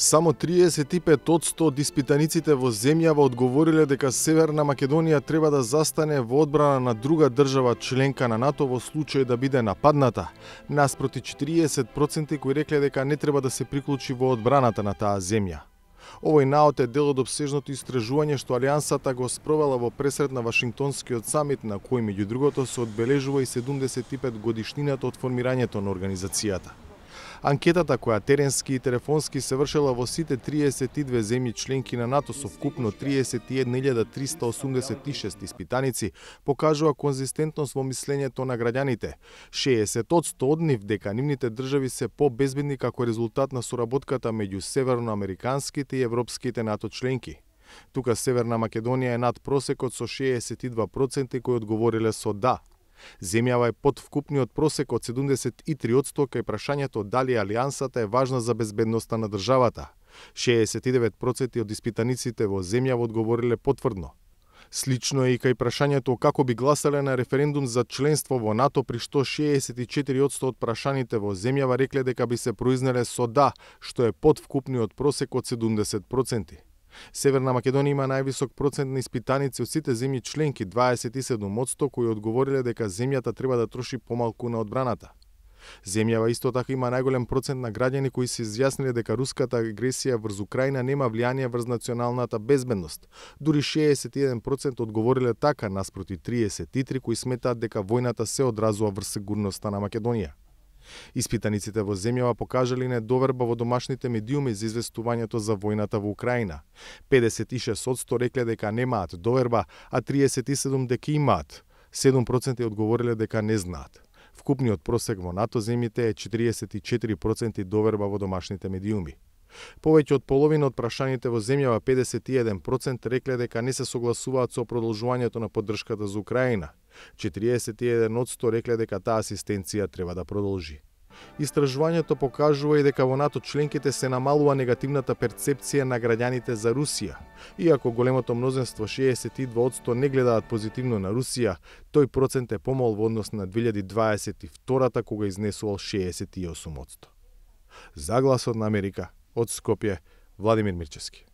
Само 35% од испитаниците во земјава одговориле дека Северна Македонија треба да застане во одбрана на друга држава членка на НАТО во случај да биде нападната, наспроти 40% кои рекле дека не треба да се приклучи во одбраната на таа земја. Овој наод е дел од опсежното истражување што Алијансата го спровела во пресред на Вашингтонскиот самит, на кој меѓу другото се одбележува и 75 годишнината од формирањето на организацијата. Анкетата која теренски и телефонски се вршела во сите 32 земји членки на НАТО со вкупно 31.386 испитаници покажува конзистентност во мислењето на граѓаните. 60% од нив дека нивните држави се побезбедни како резултат на соработката меѓу северноамериканските и европските НАТО членки. Тука Северна Македонија е над просекот со 62% кои одговориле со да. Земјава е под вкупниот просек од 73% кај прашањето дали Алијансата е важна за безбедноста на државата. 69% од испитаниците во земјава одговориле потврдно. Слично е и кај прашањето како би гласале на референдум за членство во НАТО, при што 64% од прашаните во земјава рекле дека би се произнеле со да, што е под вкупниот просек од 70%. Северна Македонија има највисок процент на испитаници од сите земји членки, 27%, кои одговориле дека земјата треба да троши помалку на одбраната. Земјава исто така има најголем процент на граѓани кои се изјасниле дека руската агресија врз Украина нема влијание врз националната безбедност. Дури 61% одговориле така, наспроти 33% кои сметаат дека војната се одразува врз сигурноста на Македонија. Испитаниците во земјава покажале недоверба во домашните медиуми за известувањето за војната во Украина. 56% рекле дека немаат доверба, а 37% дека имаат. 7% одговориле дека не знаат. Вкупниот просек во НАТО земјите е 44% доверба во домашните медиуми. Повеќе од половина од прашаните во земјава, 51%, рекле дека не се согласуваат со продолжувањето на поддршката за Украина. 41% рекле дека таа асистенција треба да продолжи. Истражувањето покажува и дека во НАТО членките се намалува негативната перцепција на граѓаните за Русија. Иако големото мнозинство 62% не гледаат позитивно на Русија, тој процент е помал во однос на 2022 кога изнесувал 68%. За Гласот на Америка, од Скопје, Владимир Мирчевски.